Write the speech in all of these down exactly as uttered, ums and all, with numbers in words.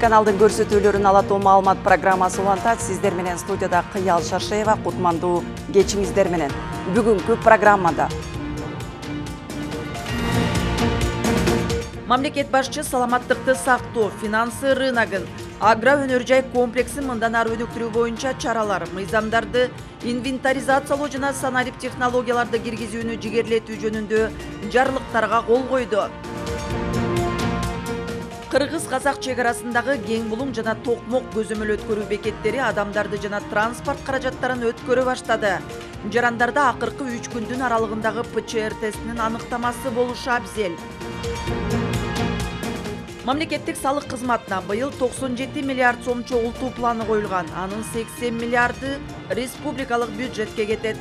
телеканалдын көрсөтүүлөрүн алатуу маалымат программасы улантат. Сиздер менен студияда Кыял Шаршеева, кутмандуу кечиңиздер менен. Бүгүнкү программада мамлекет башчы саламаттыкты сактоо, финансы рыногун, агро өнөр жай комплексин мындан ары өнүктүрүү боюнча чаралар, мыйзамдарды инвентаризациялоо жана санарип технологияларды киргизүүнү жигерлетүү жөнүндө жарлыктарга кол койду. Кыргыз-казак чек арасындагы кең булуң жана токмок көзөмөл өткөрүү бекеттери адамдарды жана транспорт каражаттарын өткөрө баштады. Жарандарда акыркы үч күндүн аралыгындагы ПЧР тестинин аныктамасы болушу абзел. Мамлекеттик салык кызматына быйыл токсон жети миллиард сом чогултуу планы коюлган. Анын сексен миллиарды республикалык бюджетке кетет.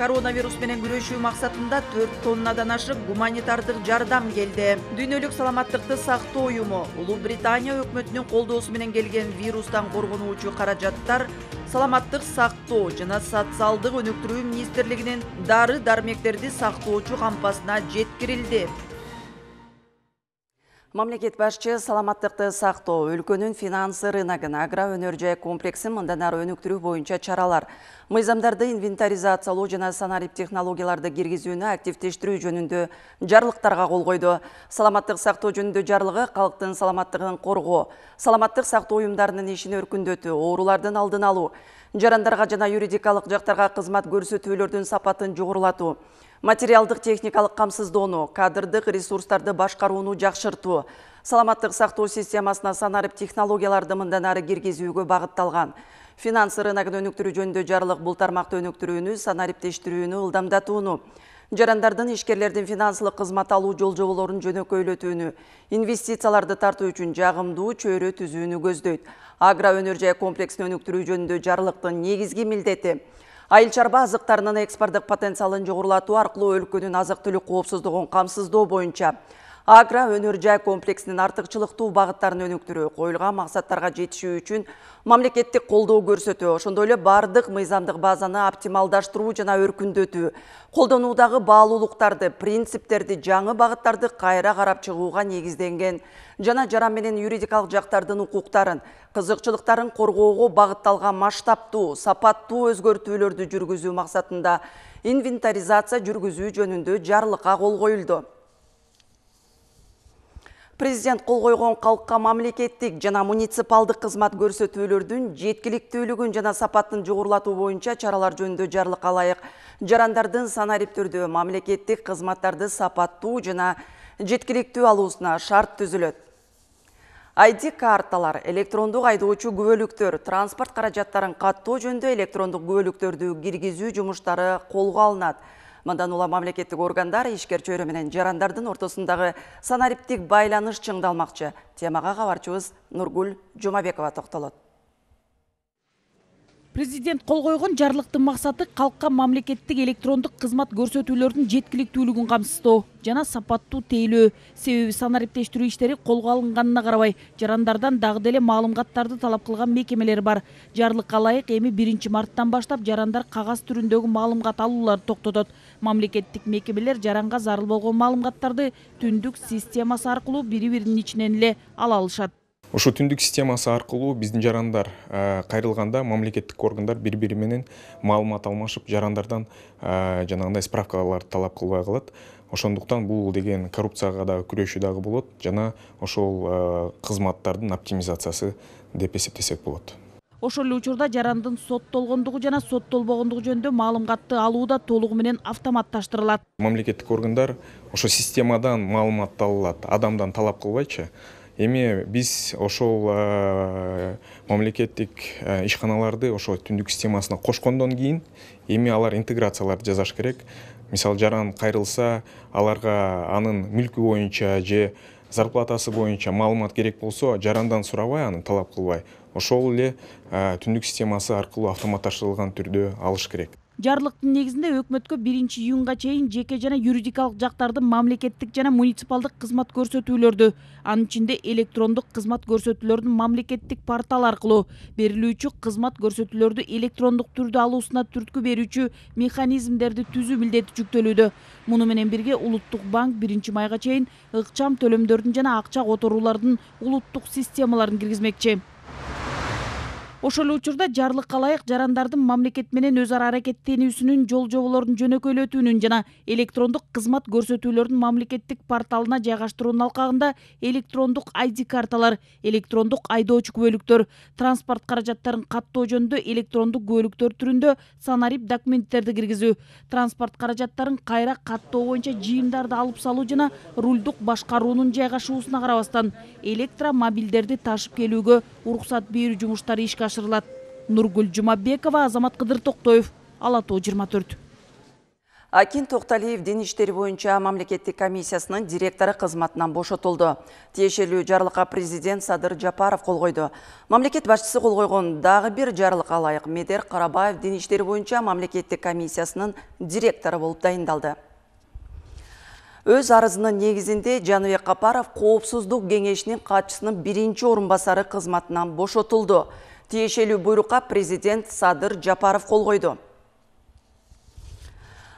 Коронавирус менен күрөшүү максатында төрт тоннадан ашык гуманитардык жардам келди. Дүйнөлүк саламаттыкты сактоо уюму Улуу Британия өкмөтүнүн колдоосу менен келген вирустан коргонуучу каражаттар саламаттык сактоо жана социалдык өнүктүрүү министрлигинин дары-дармектерди сактоочу кампасына жеткирилди. Мамлекет башчы саламаттыкты сактоо, өлкөнүн финансы рыногун, агро өнөр жай комплексин мындан ары өнүктүрүү боюнча чаралар, мыйзамдарды инвентаризациялоо жана санарип технологияларды киргизүүнү активдештирүү жөнүндө жарлыктарга кол койду. Саламаттык сактоо жөнүндө жарлыгы калктын саламаттыгын коргоо, саламаттык сактоо уюмдарынын ишин өркүндөтүү, оорулардын алдын алуу, жарандарга жана юридикалык жактарга кызмат көрсөтүүлөрдүн сапатын жогорулатуу, материалдык техникалык камсыздоону, кадрдык ресурстарды башкарууну жакшыртуу, саламаттык сактоо системасына санарип технологияларды мындан ары киргизүүгө багытталган. Финансы рыногун өнүктүрүү жөнүндө жарлык бул тармакты өнүктүрүүнү, санариптештирүүнү ылдамдатууну, жарандардын ишкерлердин финансылык кызмат алуу жолжоболорун жөнөкөйлөтүүнү, инвестицияларды тартуу үчүн жагымдуу чөйрө түзүүнү көздөйт. Агро өнөр жай комплексин өнүктүрүү жөнүндө жарлыктын негизги милдети айыл чарба азыктарынын экспорттук потенциалын жогорулатуу аркылуу өлкөнүн азык-түлүк коопсуздугун камсыздоо боюнча агро өнөр жай комплексинин артыкчылыктуу багыттарын өнүктүрүү, коюлган максаттарга жетишүү үчүн мамлекеттик колдоо көрсөтүү, ошондой эле бардык мыйзамдык базаны оптималдаштыруу жана өркүндөтүү, колдонуудагы баалуулуктарды, принциптерди, жаңы багыттарды кайра карап чыгууга негизденген жана жаран менен юридикалык жактардын укуктарын, кызыкчылыктарын коргоого багытталган масштабтуу, сапаттуу өзгөртүүлөрдү жүргүзүү максатында инвентаризация жүргүзүү жөнүндө жарлыкка кол коюлду. Президент кол койгон калкка мамлекеттик жана муниципалдык кызмат көрсөтүүлөрдүн жеткиликтүүлүгүн жана сапатын жогорулатуу боюнча чаралар жөнүндө жарлыкка ылайык жарандардын санарип түрдө мамлекеттик кызматтарды сапаттуу жана жеткиликтүү алуусуна шарт түзүлөт. ай ди карталар, электрондук айдоочу күбөлүктөр, транспорт каражаттарын каттоо жөнүндө электрондук күбөлүктөрдү киргизүү жумуштары колго алынат. Мындан улам мамлекеттик органдар ишкер чөйрө менен жарандардын ортосундагы санариптик байланыш чыңдалмакчы. Темага кабарчыбыз Нургул Жумабекова токтолот. Президент кол койгон жарлыктын максаты калкка мамлекеттик электрондук кызмат көрсөтүүлөрдүн жеткиликтүүлүгүн камсыздоо жана сапаттуу тейлөө. Себеби санариптештирүү иштери колго алынганына карабай, жарандардан дагы деле маалыматтарды талап кылган мекемелер бар. Жарлыкка ылайык эми биринчи марттан баштап жарандар кагаз түрүндөгү маалымат алууларды токтотот. Мамлекеттик мекемелер жаранга зарыл болгон маалыматтарды түндүк системасы аркылуу бири-биринин ичинен эле ала алышат. Ошо түндүк системасы аркылуу биздин жарандар кайрылганда мамлекеттик органдар бири-бири менен маалымат алмашып, жарандардан жанагындай справкаларды талап кылбай калат. Ошондуктан бул деген коррупцияга дагы күрөшүү дагы болот, жана ошол кызматтардын оптимизациясы деп эсептесек болот. Ошол эле учурда жарандын соттолгондугу жана соттолбогондугу жөнүндө маалыматты алуу да толугу менен автоматташтырылат. Мамлекеттик органдар ошо системадан маалыматты алат, адамдан талап кылбайчы. Эми биз ошол мамлекеттик ишканаларды ошо түндүк системасына кошкондон кийин эми алар интеграцияларды жасаш керек. Мисалы жаран кайрылса, аларга анын мүлкү боюнча же зарплатасы боюнча маалымат керек болсо, жарандан сурабай, аны талап кылбай, ошол эле түндүк системасы аркылуу автоматташтырылган түрдө алыш керек. Жарлыктын негизинде өкмөткө биринчи июнга чейин жеке жана юридикалык жактардын мамлекеттик жана муниципалдык кызмат көрсөтүүлөрдү, анын ичинде электрондук кызмат көрсөтүүлөрдүн мамлекеттик портал аркылуу берилүүчү кызмат көрсөтүүлөрдү электрондук түрдө алуусуна түрткү берүүчү механизмдерди түзүү милдети жүктөлүүдө. Муну менен бирге Улуттук банк биринчи майга чейин ыкчам төлөмдөрдүн жана акча которуулардын улуттук системаларын киргизмекчи. Ошол эле учурда жарлыкка ылайык жарандардын мамлекет менен өз ара аракеттенүүсүнүн жол жоболорун жөнөкөйлөтүүнүн жана электрондук кызмат көрсөтүүлөрдүн мамлекеттик порталына жайгаштыруунун алкагында электрондук ай ди карталар, электрондук айдоочу күбөлүктөр, транспорт каражаттарын каттоо жөнүндө электрондук күбөлүктөр түрүндө санарип документтерди киргизүү, транспорт каражаттарын кайра каттоо боюнча жыйымдарды алып салуу жана рулдук башкаруунун жайгашуусуна карабастан электромобилдерди ташып келүүгө уруксат берүү жумуштары ишке ашырылат. Нургүл Жумабекова, Азамат Кыдыр Токтоев, Ала Тоо жыйырма төрт. Акин Токталиев дин иштери боюнча мамлекеттик комиссиясынын директору кызматынан бошотулду. Тиешелүү жарлыкка президент Садыр Жапаров кол койду. Мамлекет башчысы кол койгон дагы бир жарлыкка ылайык Медер Карабаев дин иштери боюнча мамлекеттик комиссиясынын директору болуп дайындалды. Өз арызынын негизинде Жаныбек Капаров Коопсуздук кеңешинин катчысынын биринчи орун басары кызматынан бошотулду. Тиешелүү буйрукка президент Садыр Жапаров кол койду.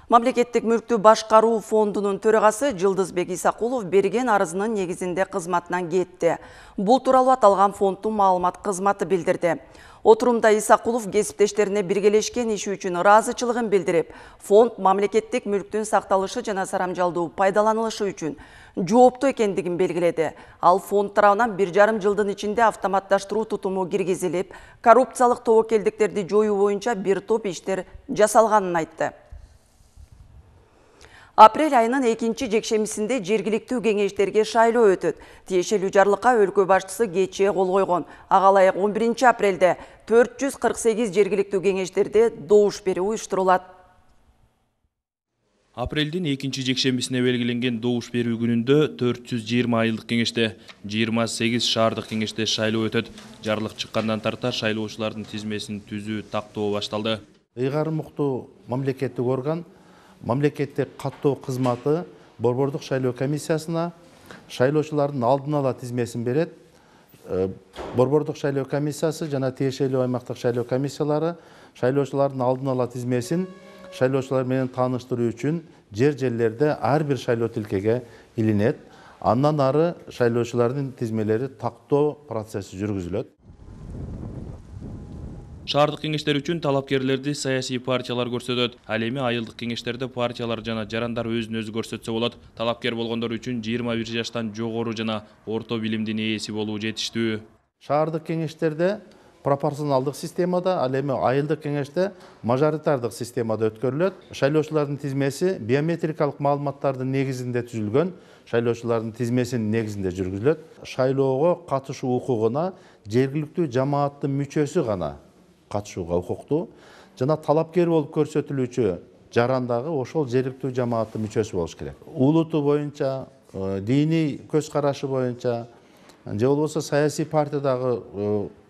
Мамлекеттик мүлктү башкаруу фондунун төрагасы Жылдызбек Исакулов берген арызынын негизинде кызматынан кетти. Бул тууралуу аталган фонддун маалымат кызматы билдирди. Отурумда Исакулов кесиптештерине биргелешкен иши үчүн ыраазычылыгын билдирип, фонд мамлекеттик мүлктүн сакталышы жана сарамжалдуу пайдаланылышы үчүн жооптуу экендигин белгиледи. Ал фонд тарабынан бир жарым жылдын ичинде автоматташтыруу тутуму киргизилип, коррупциялык тобокелдиктерди жоюу боюнча бир топ иштер жасалганын айтты. Апрель айынын экинчи жекшемисинде жергиликтүү кеңештерге шайлоо өтөт. Тиешелүү жарлыкка өлкө башчысы кечээ кол койгон. Ага ылайык он биринчи апрелде төрт жүз кырк сегиз жергиликтүү кеңештерде добуш берүү уюштурулат. Апрелдин экинчи жекшемисине белгиленген добуш берүү күнүндө төрт жүз жыйырма айылдык кеңеште, жыйырма сегиз шаардык кеңеште шайлоо өтөт. Жарлык чыккандан тарта шайлоочулардын тизмесин түзүү тактоо башталды. Ыйгары муктуу мамлекеттик орган мамлекеттик каттоо кызматы борбордук шайлоо комиссиясына шайлоочулардын алдын ала тизмесин берет. Борбордук шайлоо комиссиясы жана тиешелүү аймактык шайлоо комиссиялары шайлоочулардын алдын ала тизмесин шайлоочулар менен тааныштыруу үчүн жер жерлерде ар бир шайлоо тилкеге илинет. Андан ары шайлоочулардын тизмелери тактоо процесси жүргүзүлөт. Шаардык кеңештер үчүн талапкерлерди саясий партиялар көрсөтөт. Ал эми айылдык кеңештерде партиялар жана жарандар өзүн өзү көрсөтсө болот. Талапкер болгондор үчүн жыйырма бир жаштан жогору жана орто билимдин ээси болуу жетиштүү. Шаардык кеңештерде пропорционалдык системада, ал эми айылдык кеңеште мажоритардык системада өткөрүлөт. Шайлоочулардын тизмеси биометрикалык маалыматтардын негизинде түзүлгөн. Шайлоочулардын тизмесинин негизинде жүргүзүлөт. Шайлоого катышуу укугуна жергиликтүү жамааттын мүчөсү гана катышууга укуктуу жана талапкер болуп көрсөтүлүүчү жарандагы ошол жергиликтүү жамааттын мүчөсү болуш керек. Улуту боюнча, диний көз карашы боюнча же болбосо саясий партиядагы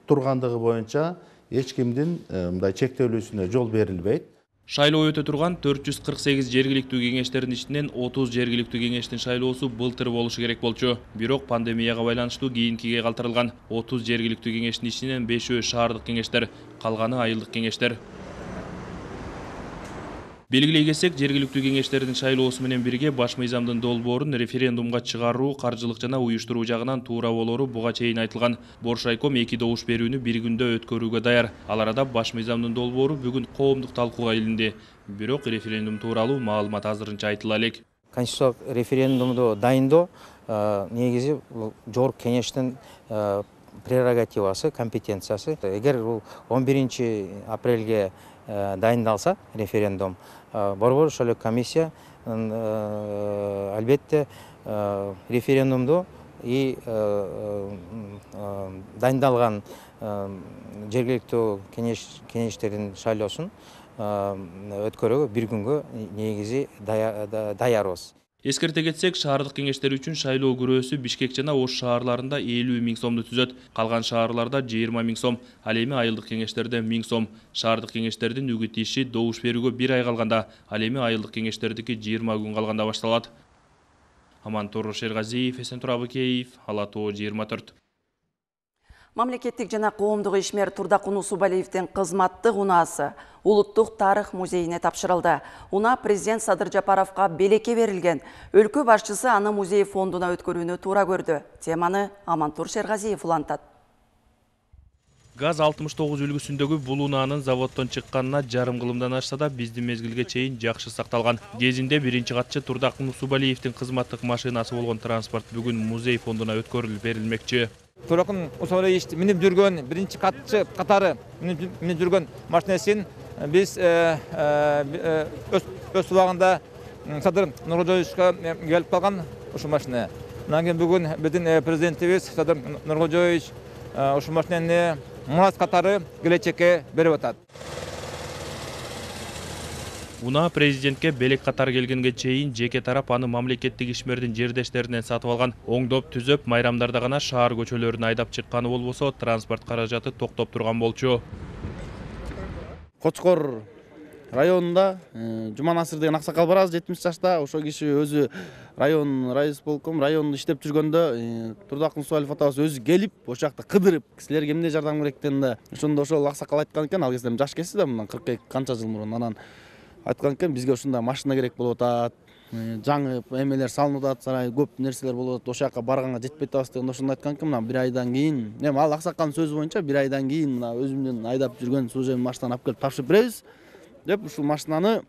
тургандыгы боюнча эч кимдин мындай чектелүүсүнө жол берилбейт. Шайлоо өтө турган төрт жүз кырк сегиз жергиликтүү кеңештердин ичинен отуз жергиликтүү кеңештин шайлоосу былтыр болушу керек болчу. Бирок пандемияга байланыштуу кийинкиге калтырылган. отуз жергиликтүү кеңештин ичинен бешөө шаардык кеңештер, калганы айылдык кеңештер. Белгилей кетсек, жергиликтүү кеңештердин шайлоосу менен бирге баш мыйзамдын долбоорун референдумга чыгаруу, каржылык жана уюштуруу жагынан туура болору буга чейин айтылган. Боршайком эки добуш берүүнү бир күндө өткөрүүгө даяр. Ал арада баш мыйзамдын долбоору бүгүн коомдук талкууга илинди. Бирок референдум тууралуу маалымат азырынча айтыла элек. Конституциялык референдумду дайындоо негизи жогорку кеңештин прерогативасы, компетенциясы. Эгер бул он биринчи апрелге дайындалса референдум, борбор шайлоо комиссия албетте референдумду и дайындалган жергиликтүү кеңештердин шайлоосун өткөрүүгө бир күнгө негизи даярбыз. Эскерте кетсек, шаардык кеңештер үчүн шайлоо күрөөсү Бишкек жана Ош шаарларында элүү миң сомду түзөт. Калган шаарларда жыйырма миң сом, ал эми айылдык кеңештерде миң сом. Шаардык кеңештердин үгүт иши добуш берүүгө бир ай калганда, ал эми айылдык кеңештердики жыйырма күн калганда башталат. Амантур Шергазиев, Эсен Турабыкеев, Ала тоо жыйырма төрт. Мамлекеттик жана коомдук ишмер Турдакун Усубалиевдин кызматтык унаасы Улуттук тарых музейине тапшырылды. Уна президент Садыр Жапаровго белекке берилген. Өлкө башчысы аны музей фондуна өткөрүүнү туура көрдү. Теманы Амантур Шергазиев улантат. ГАЗ алтымыш тогуз үлгүсүндөгү бул унаанын заводдон чыкканына жарым кылымдан ашса да биздин мезгилге чейин жакшы сакталган. Кезинде биринчи катчы Турдакун Усубалиевдин кызматтык машинасы болгон транспорт бүгүн музей фондуна өткөрүлүп берилмекчи. Турдакун Усубалиевич минип жүргөн биринчи катчы катары минип жүргөн машинесин биз өз убагында Садыр Нуркожоевичке келип калган ушул машина. Анан кийин бүгүн биздин президентибиз Садыр Нуркожоевич ушул машинени мурас катары келечекке берип атат. Уна президентке белек катары келгенге чейин жеке тарап аны мамлекеттик ишмердин жердештеринен сатып алган. Оңдоп түзөп, майрамдарда гана шаар көчөлөрүнө айдап чыкканы болбосо, транспорт каражаты токтоп турган болчу. Кочкор районунда Жуман Асыр деген аксакал бар, жетимиш жашта. Ошол киши өзү район райисполком районунда иштеп жүргөндө Турдакун Усубалиев атабыз өзү келип, ошол жакта кыдырып, кисилерге эмне жардам керектен да ошондо ошол аксакал айткан экен, ал кезде жаш кесси да, мындан кырк эки канча жыл мурун. Анан айткан экен, бизге ушундай машина керек болуп атат, жаңы эмелер салынып атат, сарай көп нерселер болуп атат, ошол жака барганга жетпей атабыз деген ошондо айткан экен. Мына бир айдан кийин, эми ал аксакалдын сөзү боюнча бир айдан кийин мына өзүмдүн айдап жүргөн служебный машинаны алып келип тапшырып беребиз деп ушул машинаны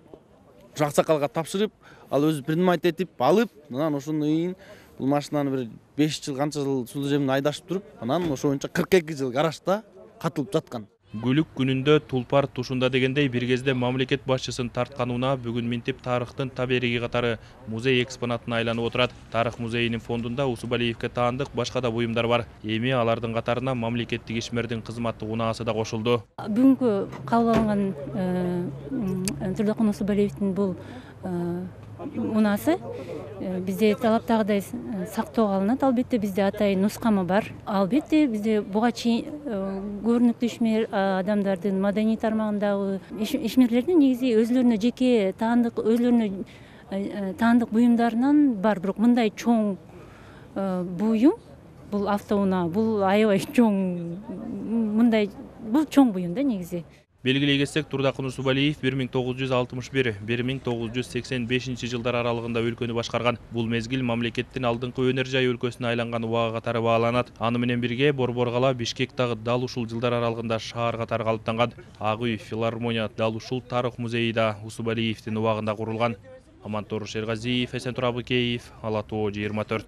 ушул аксакалга тапшырып, ал өзү принимать этип алып, анан ошондон кийин бул машинаны бир беш жыл канча жыл служебный айдашып туруп, анан ошо боюнча кырк эки жыл гаражда катылып жаткан. Гүлүк күнүндө тулпар тушунда дегендей бир кезде мамлекет башчысын тарткан унаа бүгүн минтип тарыхтын табириги катары музей экспонатына айланып отурат. Тарых музейинин фондунда Усубалиевке таандык башка да буюмдар бар. Эми алардын катарына мамлекеттик ишмердин кызматтык унаасы да кошулду. Бүгүнкү кабыл алынган Турдакун Усубалиевдин бул унаасы бизде талаптагыдай сактоого алынат. Албетте бизде атайын нускамы бар. Албетте бизде буга чейин көрүнүктүү ишмер адамдардын маданий тармагындагы ишмерлердин негизи өзүлөрүнө жеке таандык өзүлөрүнө таандык буюмдарынан бар. Бирок мындай чоң буюм, бул автоунаа, бул аябай чоң, мындай бул чоң буюм да негизи. Белгилей кетсек, Турдакун Усубалиев бир миң тогуз жүз алтымыш бир — бир миң тогуз жүз сексен бешинчи жылдар аралыгында өлкөнү башкарган. Бул мезгил мамлекеттин алдыңкы өнөр жай өлкөсүнө айланган убага катары бааланат. Аны менен бирге Борбор-кала Бишкек дагы дал ушул жылдар аралыгында шаар катары калыптанган. Ак үй, филармония, дал ушул тарых музейи да Усубалиевдин убагында курулган. Амантур Шергазиев, Эсен Турабыкеев, Ала тоо жыйырма төрт.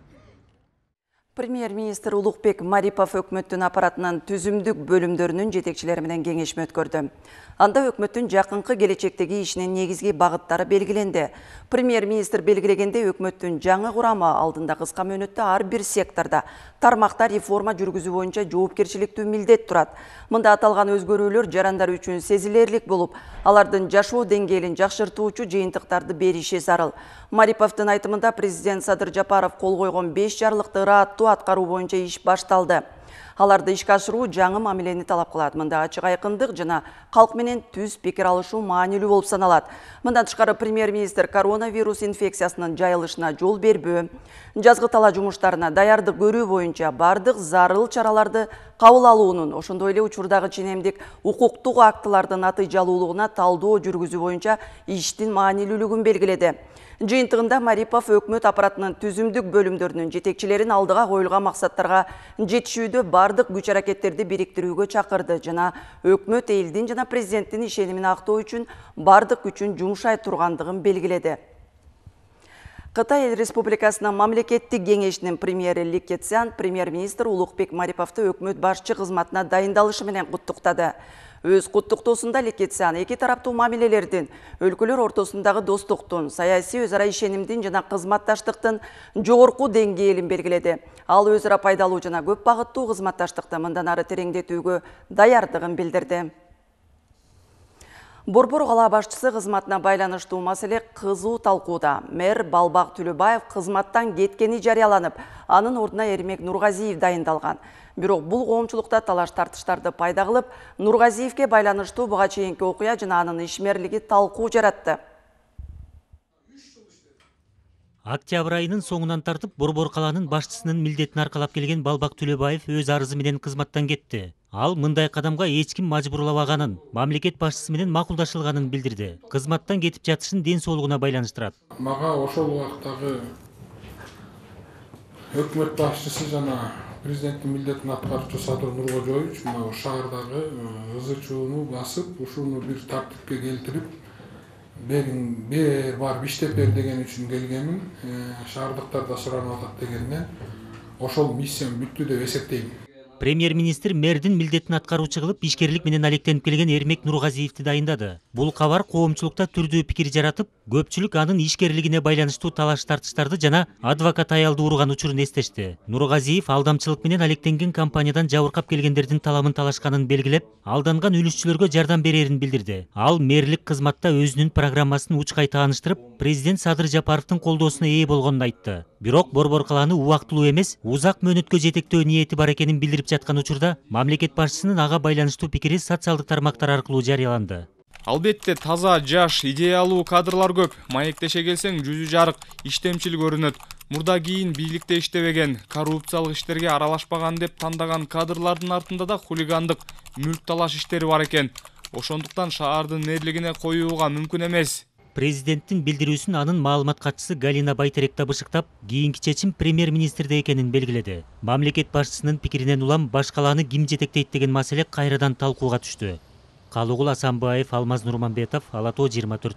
Премьер-министр Улукбек Марипов өкмөттүн аппаратынын түзүмдүк бөлүмдөрүнүн жетекчилери менен кеңешме өткөрдү. Анда өкмөттүн жакынкы келечектеги ишинин негизги багыттары белгиленди. Премьер-министр белгилегенде өкмөттүн жаңы курамы алдында кыска мөөнөттө ар бир секторда тармакта реформа жүргүзүү боюнча жоопкерчиликтүү милдет турат. Мында аталган өзгөрүүлөр жарандар үчүн сезилерлик болуп, алардын жашоо деңгээлин жакшыртуучу жыйынтыктарды бериши зарыл. Мариповдун айтымында президент Садыр Жапаров кол койгон беш жарлыкты ыраттуу аткаруу боюнча иш башталды. Аларды ишке ашыруу жаңы мамилени талап кылат. Мында ачык айкындык жана калк менен түз пикир алышуу маанилүү болуп саналат. Мындан тышкары премьер-министр коронавирус инфекциясынын жайылышына жол бербөө, жазгы тала жумуштарына даярдык көрүү боюнча бардык зарыл чараларды кабыл алуунун, ошондой эле учурдагы ченемдик укуктук актылардын натыйжалуулугуна талдоо жүргүзүү боюнча иштин маанилүүлүгүн белгиледи. Жыйынтыгында Марипов өкмөт аппаратынын түзүмдүк бөлүмдөрүнүн жетекчилерин алдыга коюлган максаттарга жетишүүдө бардык күч аракеттерди бириктирүүгө чакырды жана өкмөт элдин жана президенттин ишенимин актоо үчүн бардык күчүн жумшай тургандыгын белгиледи. Кытай Республикасынын мамлекеттик кеңешинин премьери Ли Кэцян премьер-министр Улукбек Мариповду өкмөт башчы кызматына дайындалышы менен куттуктады. Өз куттуктоосунда Ли Кэцян эки тараптуу мамилелердин, өлкөлөр ортосундагы достуктун, саясий өз ара ишенимдин жана кызматташтыктын жогорку деңгээлин белгиледи. Ал өз ара пайдалуу жана көп багыттуу кызматташтыкты мындан ары тереңдетүүгө даярдыгын билдирди. Борбор кала башчысы кызматына байланыштуу маселе кызуу талкууда. Мэр Балбак Түлөбаев кызматтан кеткени жарыяланып, анын ордуна Эрмек Нургазиев дайындалган. Бирок бул коомчулукта талаш тартыштарды пайда кылып, Нургазиевке байланыштуу буга чейинки окуя жана анын ишмерлиги талкуу жаратты. Октябрь айынын соңунан тартып, Борбор каланын башчысынын милдетин аркалап келген Балбак Түлөбаев өз арызы менен кызматтан кетти. Ал мындай кадамга эч ким мажбурлабаганын, мамлекет башчысы менен макулдашылганын билдирди. Кызматтан кетип жатышын ден соолугуна байланыштырат. Мага ошол убактагы өкмөт башчысы жана президенттин милдетин аткаруучу Садыр Нуркожоевич мына шаардагы ызы чууну басып, ушуну бир тартипке келтирип, берин бер барып иштеп бер деген үчүн келгенмин. Шаардыктарда суранып атат дегенден ошол миссиям бүттү деп эсептейм. Премьер-министр мэрдин милдетин аткаруучу кылып ишкерлик менен алектенип келген Эрмек Нургазиевди дайындады. Бул кабар коомчулукта түрдүү пикир жаратып, көпчүлүк анын ишкерлигине байланыштуу талаш тартыштарды жана адвокат аялды урган учурун эстешти. Нургазиев алдамчылык менен алектенген компаниядан жабыркап келгендердин таламын талашканын белгилеп, алданган үлүшчүлөргө жардам берерин билдирди. Ал мэрлик кызматта өзүнүн программасын учкай тааныштырып, президент Садыр Жапаровдун колдоосуна ээ болгонун айтты. Бирок Борбор каланы убактылуу эмес, узак мөөнөткө жетектөө ниети бар экенин билдирип жаткан учурда мамлекет башчысынын ага байланыштуу пикири социалдык тармактар аркылуу жарыяланды. Албетте таза, жаш, идеялуу кадрлар көп. Маектеше келсең жүзү жарык, иштемчил көрүнөт. Мурда кийин бийликте иштебеген, коррупциялык иштерге аралашпаган деп тандаган кадрлардын артында да хулигандык, мүлк талаш иштери бар экен. Ошондуктан шаардын мэрлигине коюуга мүмкүн эмес. Президенттин билдирүүсүн анын маалымат катчысы Галина Байтерек табышыктап, кийинки чечим премьер-министрде экенин белгиледи. Мамлекет башчысынын пикиринен улам баш калааны ким жетектейт деген маселе кайрадан талкууга түштү. Калыгул Асанбаев, Алмаз Нурманбетов, Ала тоо жыйырма төрт.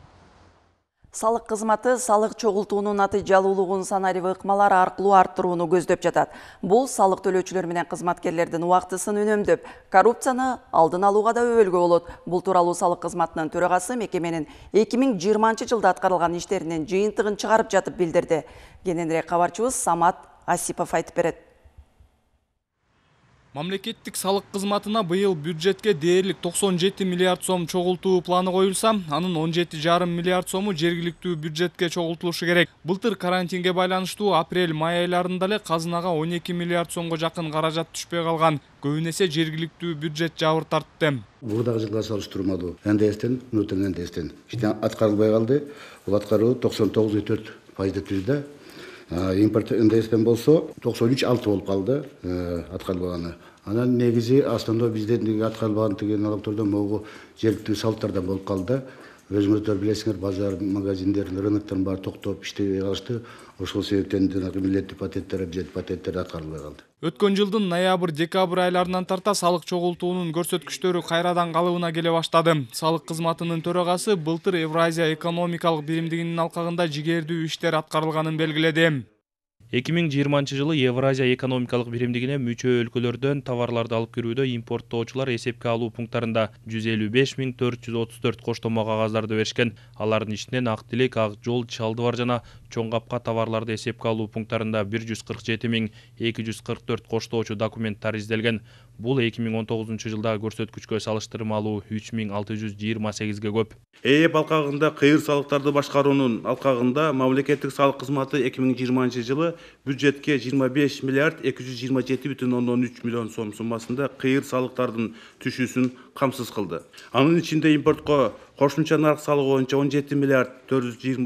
Салык кызматы салык чогултуунун натыйжалуулугун санарип ыкмалар аркылуу арттырууну көздөп жатат. Бул салык төлөөчүлөр менен кызматкерлердин убактысын үнөмдөп, коррупцияны алдын алууга да өбөлгө болот. Бул тууралуу салык кызматынын төрагасы мекеменин эки миң жыйырманчы жылда аткарылган иштеринин жыйынтыгын чыгарып жатып билдирди. Кененирээк кабарчыбыз Самат Асипов айтып берет. Мамлекеттик салык кызматына быйыл бюджетке дээрлик токсон жети миллиард сом чогултуу планы коюлса, анын он жети жарым миллиард сому жергиликтүү бюджетке чогултулушу керек. Былтыр карантинге байланыштуу апрель-май айларында эле казынага он эки миллиард сомго жакын каражат түшпөй калган. Көбүн эсе жергиликтүү бюджет жабыр тартты. Мурдагы жылга салыштырмалуу эн дэ эстен, внутренний эн дэ эстен иште аткарылбай калды. Бул аткаруу токсон тогуз бүтүн төрт пайызды түздү. Импорт эн дэ эстен болсо токсон үч алты болуп калды аткарылбаганы. Анан негизи основной бизден аткарылбаган деген налогтордон могу жергиликтүү салыктардан болуп калды. Өзүңүздөр билесиңер, базар, магазиндер, рыноктор баары токтоп иштебей калышты. Ошол себептен милдеттик патенттер, бюджет патенттер аткарылбай калды. Өткөн жылдын ноябрь-декабрь айларынан тарта салык чогултуунун көрсөткүчтөрү кайрадан калыбына келе баштады. Салык кызматынын төрагасы былтыр Евразия экономикалык биримдигинин алкагында жигердүү иштер аткарылганын белгиледи. эки миң жыйырманчы жылы Евразия экономикалык биримдигине мүчө өлкөлөрдөн товарларды алып кирүүдө импорттоочулар эсепке алуу пункттарында жүз элүү беш миң төрт жүз отуз төрт коштомо кагаздарды беришкен. Алардын ичинен ак тилек, ак жол, чалдыбар жана чоң капка товарларды эсепке алуу пункттарында бир жүз кырк жети миң эки жүз кырк төрт коштоочу документтар изделген. Бул эки миң он тогузунчу жылдагы көрсөткүчкө салыштырмалуу үч миң алты жүз жыйырма сегизге көп. ЭЭП алкагында кыйыр салыктарды башкаруунун алкагында мамлекеттик салык кызматы эки миң жыйырманчы жылы бюджетке жыйырма беш миллиард эки жүз жыйырма жети бүтүн ондон үч миллион сом суммасында кыйыр салыктардын түшүүсүн камсыз кылды. Анын ичинде импортко кошумча нарк салыгы боюнча он жети миллиард төрт жүз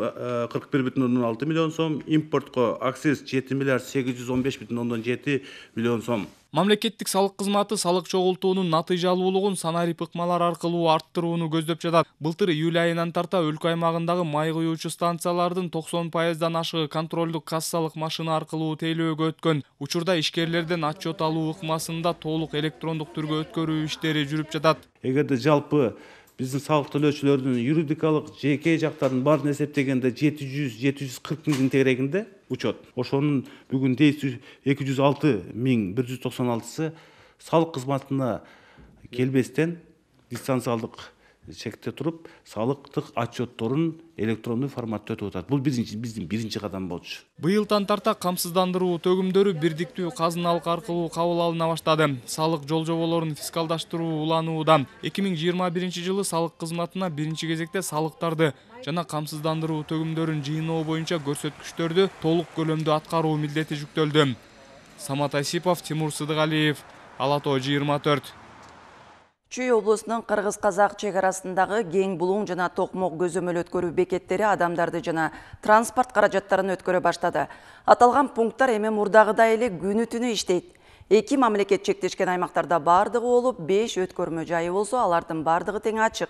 кырк бир бүтүн ондон алты миллион сом, импортко акциз жети миллиард сегиз жүз он беш бүтүн ондон жети миллион сом. Мамлекеттик салык кызматы салык чогултуунун натыйжалуулугун санарип ыкмалар аркылуу арттырууну көздөп жатат. Былтыр июль айынан тарта өлкө аймагындагы май куюучу станциялардын токсон пайыздан ашыгы контролдук кассалык машина аркылуу тейлөөгө өткөн. Учурда ишкерлерден отчет алуу ыкмасын да толук электрондук түргө өткөрүү иштери жүрүп жатат. Эгерде жалпы биздин салык төлөөчүлөрдүн юридикалык жеке жактарын баарын эсептегенде жети жүз жети жүз кырк миңдин тегерегинде учет. Ошонун бүгүн эки жүз алты миң бир жүз токсон алтысы салык кызматына келбестен дистанциялык чекте туруп салыктык отчетторун электрондуу форматта өтүп атат. Бул биринчи биздин биринчи кадам болчу. Быйылдан тарта камсыздандыруу төгүмдөрү бирдиктүү казыналык аркылуу кабыл алына баштады. Салык жолжоболорун фискалдаштыруу уланууда. эки миң жыйырма биринчи жылы салык кызматына биринчи кезекте салыктарды жана камсыздандыруу төгүмдөрүн жыйноо боюнча көрсөткүчтөрдү толук көлөмдө аткаруу милдети жүктөлдү. Самат Асипов, Тимур Сыдыгалиев, Ала Тоо жыйырма төрт. Чүй облусунун Кыргыз-Казак чек арасындагы Кең Булуң жана Токмок көзөмөл өткөрүү бекеттери адамдарды жана транспорт каражаттарын өткөрө баштады. Аталган пункттар эми мурдагыдай эле күнү түнү иштейт. Эки мамлекет чектешкен аймактарда бардыгы болуп, беш өткөрмө жайы болсо, алардын бардыгы тең ачык.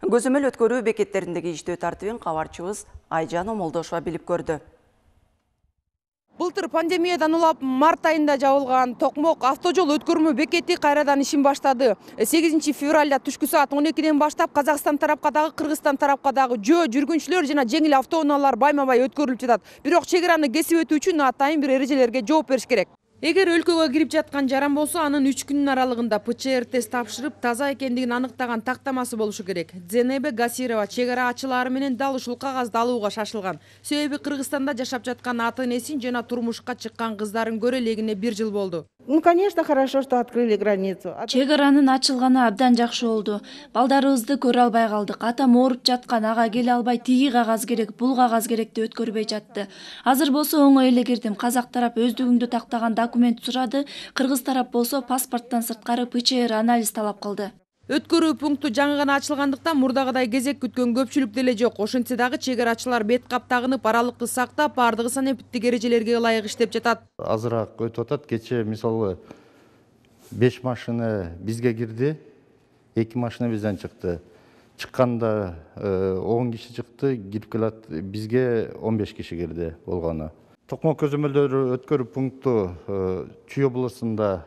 Көзөмөл өткөрүү бекеттериндеги иштөө тартибин кабарчыбыз Айжан Омолдошова билип көрдү. Былтыр пандемиядан улап март айында жабылган Токмок автожол өткөрмө бекети кайрадан ишин баштады. сегизинчи февралда түшкү саат он экиден баштап Казакстан тарапка дагы, Кыргызстан тарапка дагы жөө жүргүнчүлөр жана жеңил автоунаалар байма-бай өткөрүлүп жатат. Бирок чек араны кесип өтүү үчүн атайын бир эрежелерге жооп бериш керек. Эгер өлкөгө кирип жаткан жаран болсо, анын үч күнүн аралыгында П Ч Р тест тапшырып, таза экендигин аныктаган тактамасы болушу керек. Зенебе Гасирова чек ара ачылары менен дал ушул кагазды алууга шашылган. Себеби Кыргызстанда жашап жаткан ата-энесин жана турмушка чыккан кыздарын көрө элегине бир жыл болду. Ну, конечно, хорошо, что открыли границу. Чек аранын ачылганы абдан жакшы болду. Балдарыбызды көрө албай калдык. Атам ооруп жаткан, ага келе албай, тиги кагаз керек, бул кагаз керек деп өткөрбөй жатты. Азыр болсо оңой эле кирдим. Казак тарап өздүгүңдү тактаган документ сурады. Кыргыз тарап болсо паспорттон сырткары П Ч Р анализ талап кылды. Өткөрүү пункту жаңы гана ачылгандыктан мурдагыдай кезек күткөн көпчүлүк деле жок. Ошентсе дагы чек арачылар бет кап тагынып, аралыкты сактап, бардыгы санэпиттик эрежелерге ылайык иштеп жатат. Азыраак өтүп атат. Кече мисалы беш машина бизге кирди, эки машина бизден чыкты. Чыкканда он киши чыкты, кирип келат бизге он беш киши кирди болгону. Токмок көзөмөлдөрү өткөрүү пункту Чүй облусунда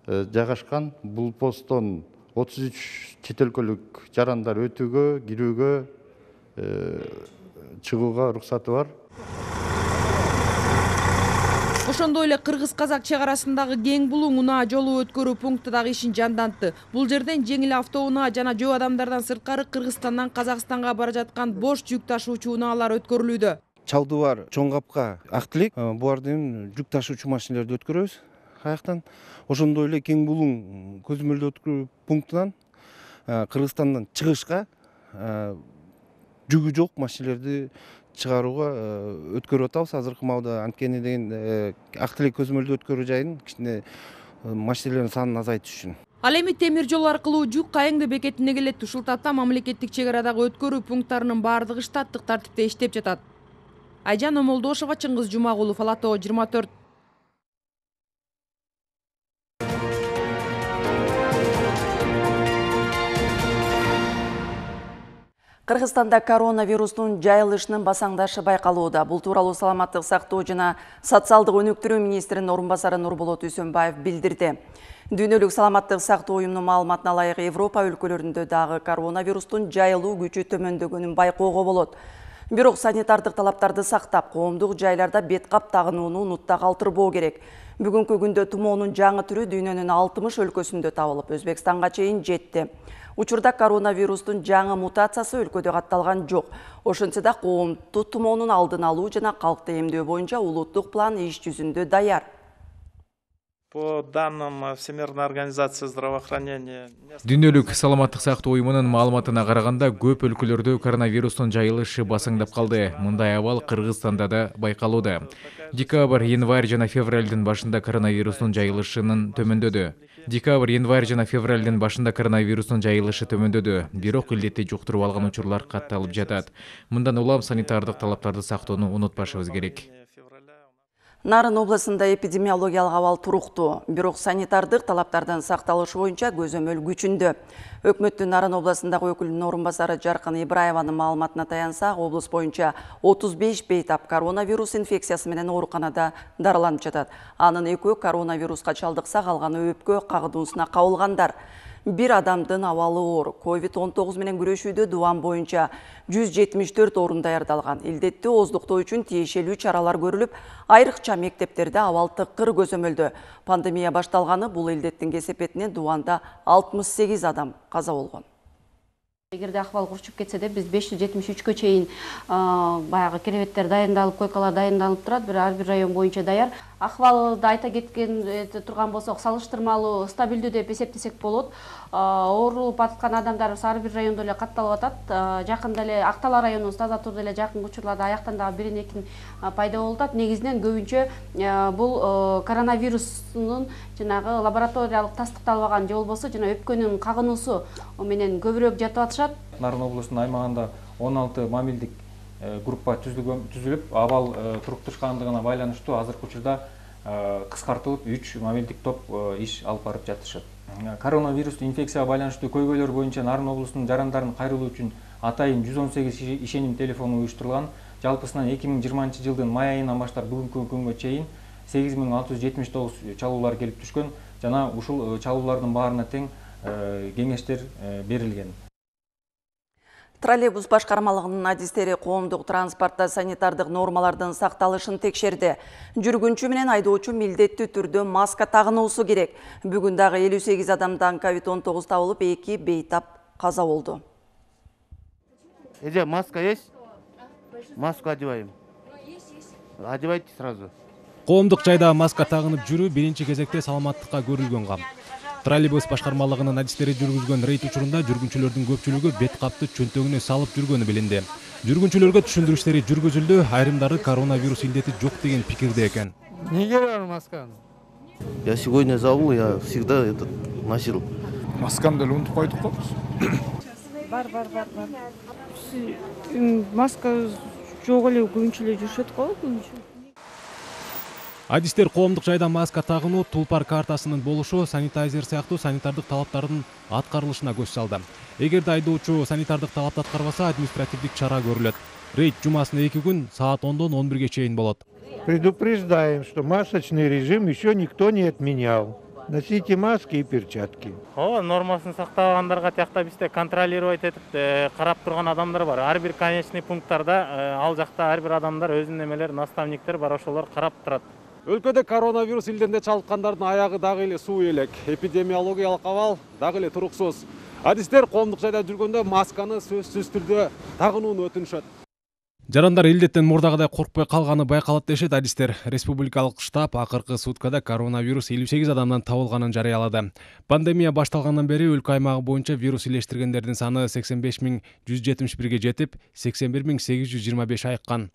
жайгашкан. Бул посттон отуз үч чет өлкөлүк жарандар өтүүгө, кирүүгө, чыгууга уруксаты бар. Ошондой эле Кыргыз-Казак чек арасындагы Кең Булуң унаа жолу өткөрүү пункту дагы ишин жандантты. Бул жерден жеңил автоунаа жана жөө адамдардан сырткары Кыргызстандан Казакстанга бара жаткан бош жүк ташуучу унаалар өткөрүлүүдө. Чалдыбар, Чоң Капка, Актилек булардын жүк ташуучу машиналарды өткөрөбүз. Аяктан ошондой эле Кең Булуң көзөмөлдөө өткөрүү пунктунан Кыргызстандан чыгышка жүгү жок машиналарды чыгарууга өткөрүп атабыз азыркы маалда. Анткени деген Актилек көзөмөлдөө өткөрүү жайын кичине машиналардын санын азайтыш үчүн. Ал эми темир жол аркылуу жүк Кайыңды бекетине келет. Ушул тапта мамлекеттик чек арадагы өткөрүү пункттарынын бардыгы штаттык тартипте иштеп жатат. Айжан Омолдошова, Чыңгыз Жумагулов, Ала Тоо жыйырма төрт. Кыргызстанда коронавирустун жайылышынын басаңдашы байкалууда. Бул тууралуу саламаттык сактоо жана социалдык өнүктүрүү министринин орун басары Нурболот Үсөнбаев билдирди. Дүйнөлүк саламаттык сактоо уюмунун маалыматына ылайык Европа өлкөлөрүндө дагы коронавирустун жайылуу күчү төмөндөгөнүн байкоого болот. Бирок санитардык талаптарды сактап, коомдук жайларда бет кап тагынууну унутта калтырбоо керек. Бүгүнкү күндө тумоонун жаңы түрү дүйнөнүн алтымыш өлкөсүндө табылып, Өзбекстанга чейин жетти. Учурда коронавирустун жаңы мутациясы өлкөдө катталган жок. Ошентсе да коомдук тумоонун алдын алуу жана калкты эмдөө боюнча улуттук план иш жүзүндө даяр. По данным Всемирной организации здравоохранения. Дүйнөлүк саламаттык сактоо уюмунун маалыматына караганда, көп өлкөлөрдө коронавирустун жайылышы басаңдап калды. Мындай абал Кыргызстанда да байкалууда. Декабрь, январь жана февралдын башында коронавирустун жайылышынын төмөндөдү. Декабрь, январь жана февралдын башында коронавирустун жайылышы төмөндөдү. Бирок илдетти жуктуруп алган учурлар катталып жатат. Мындан улам санитардык талаптарды сактоону унутпашыбыз керек. Нарын областында эпидемиологиялык абал туруктуу, бирок санитардык талаптардын сакталышы боюнча көзөмөл күчүндө. Өкмөттүн Нарын областындагы өкүлүнүн орун басары Жаркын Ибраеванын маалыматына таянсак, облус боюнча отуз беш бейтап коронавирус инфекциясы менен ооруканада дарыланып жатат. Анын экөө коронавируска чалдыкса, калганы өпкө кагылуусуна кабылгандар. Бир адамдын абалы оор. ковид он тогуз менен күрөшүүдө Дубан боюнча жүз жетимиш төрт орун даярдалган. Илдетти ооздуктоо үчүн тиешелүү чаралар көрүлүп, айрыкча мектептерде абал тыкыр көзөмөлдө. Пандемия башталганы бул илдеттин кесепетинен Дубанда алтымыш сегиз адам каза болгон. Эгерде акыбал курчуп кетсе де биз беш жүз жетимиш үчкө чейин баягы керебеттер дайындалып, койкалар дайындалып турат, бир ар бир район боюнча даяр. Акыбалды айта кеткен турган болсок, салыштырмалуу стабилдүү деп эсептесек болот. Оорулуп аткан адамдар ар бир райондо эле катталып атат. Жакында эле Актала районунун Таза Турда эле жакын учурларда аяктан дагы бирин экин пайда болуп атат. Негизинен көбүнчө бул коронавирустун жанагы лабораториялык тастыкталбаган же болбосо жана өпкөнүн кагынуусу менен көбүрөөк жатып атышат. Нарын облусунун аймагында он алты мамилдик группа түзүлүп, абал туруктушкандыгына байланыштуу азыркы учурда кыскартылып үч мамилдик топ иш алып барып жатышат. Коронавирустуу инфекцияга байланыштуу көйгөйлөр боюнча Нарын облусунун жарандарын кайрылуу үчүн атайын жүз он сегиз ишеним телефону уюштурулган. Жалпысынан эки миң жыйырманчы жылдын май айынан баштап бүгүнкү күнгө чейин сегиз миң алты жүз жетимиш тогуз чалуулар келип түшкөн жана ушул чалуулардын баарына тең кеңештер берилген. Троллейбус башкармалыгынын адистери коомдук транспортто санитардык нормалардын сакталышын текшерди. Жүргүнчү менен айдоочу милдеттүү түрдө маска тагынуусу керек. Бүгүн дагы элүү сегиз адамдан ковид он тогуз табылып, эки бейтап каза болду. Эже, маска есть? Маску одеваем. Одевайте сразу. Коомдук жайда маска тагынып жүрүү биринчи кезекте саламаттыкка көрүлгөн кам. Троллейбус башкармалыгынын адистери жүргүзгөн рейд учурунда жүргүнчүлөрдүн көпчүлүгү бет капты чөнтөгүнө салып жүргөнү билинди. Жүргүнчүлөргө түшүндүрүштери жүргүзүлдү, айрымдары коронавирус илдети жок деген пикирде экен. Неге бар масканы? Я сегодня забыл, я всегда этот носил. Масканы деле унутуп койдук го биз. Бар, бар, бар, бар. Маска жок эле көбүнчө эле жүрүшөт го, көбүнчө. Адистер коомдук жайда маска тагынуу, тулпар картасынын болушу, санитайзер сыяктуу санитардык талаптардын аткарылышына көз салды. Эгерде айдоочу санитардык талапты аткарбаса, административдик чара көрүлөт. Рейд жумасына эки күн саат ондон он бирге чейин болот. Предупреждаем, что масочный режим еще никто не отменял. Носите маски и перчатки. Ооба, нормасын сактагандарга тиякта бизде контролировать этип карап турган адамдар бар. Ар бир конечный пункттарда ал жакта ар бир адамдар өзүнүн эмелер, наставниктер бар, ошолор карап турат. Өлкөдө коронавирус илдерине чалдыккандардын аягы дагы эле суу элек. Эпидемиологиялык абал дагы эле туруксуз. Адистер коомдук жайда жүргөндө масканы сөзсүз түрдө тагынууну өтүнүшөт. Жарандар илдеттен мурдагыдай коркпой калганы байкалат дешет адистер. Республикалык штаб акыркы суткада коронавирус элүү сегиз адамдан табылганын жарыялады. Пандемия башталгандан бери өлкө аймагы боюнча вирус илештиргендердин саны сексен беш миң жүз жетимиш бирге жетип, сексен бир миң сегиз жүз жыйырма беш айыккан.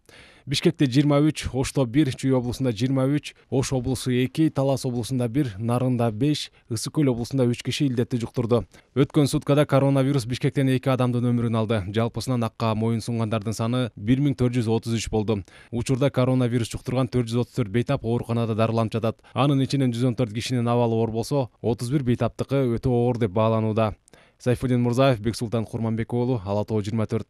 Бишкекте жыйырма үч, Ошто бир, Чүй облусунда жыйырма үч, Ош облусу эки, Талас облусунда бир, Нарында беш, Ысык Көл облусунда үч киши илдетти жуктурду. Өткөн суткада коронавирус Бишкектен эки адамдын өмүрүн алды. Жалпысынан акка моюн сунгандардын саны бир миң төрт жүз отуз үч болду. Учурда коронавирус жуктурган төрт жүз отуз төрт бейтап ооруканада дарыланып жатат. Анын ичинен жүз он төрт кишинин абалы оор болсо, отуз бир бейтаптыкы өтө оор деп бааланууда. Сайфуддин Мурзаев, Бексултан Курманбек уулу, Ала Тоо жыйырма төрт.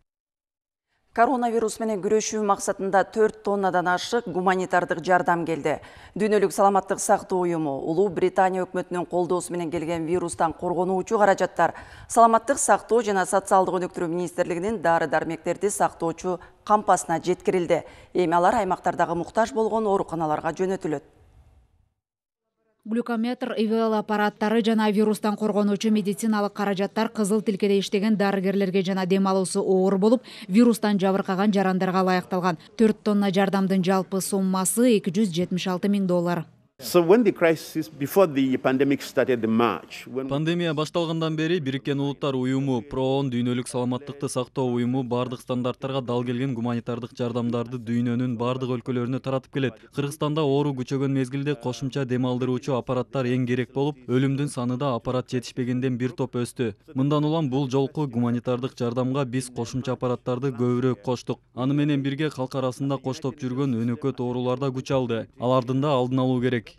Коронавирус менен күрөшүү максатында төрт тоннадан ашык гуманитардык жардам келди. Дүйнөлүк саламаттык сактоо уюму Улуу Британия өкмөтүнүн колдоосу менен келген вирустан коргонуучу каражаттар саламаттык сактоо жана социалдык өнүктүрүү министрлигинин дары-дармектерди сактоочу кампасына жеткирилди. Эми алар аймактардагы муктаж болгон ооруканаларга жөнөтүлөт. Глюкометр, ИВЛ аппараттары жана вирустан коргонуучу медициналык каражаттар кызыл тилкеде иштеген дарыгерлерге жана дем алуусу оор болуп, вирустан жабыркаган жарандарга ылайыкталган. төрт тонна жардамдын жалпы суммасы эки жүз жетимиш алты миң доллар. Пандемия башталгандан бери Бириккен Улуттар уюму, ПРООН, дүйнөлүк саламаттыкты сактоо уюму бардык стандарттарга дал келген гуманитардык жардамдарды дүйнөнүн бардык өлкөлөрүнө таратып келет. Кыргызстанда оору күчөгөн мезгилде кошумча дем алдыруучу аппараттар эң керек болуп, өлүмдүн саны да аппарат жетишпегенден бир топ өстү. Мындан улам бул жолку гуманитардык жардамга биз кошумча аппараттарды көбүрөөк коштук. Аны менен бирге калк арасында коштоп жүргөн өнөкөт оорулар да күч алды. Алардын да алдын алуу керек.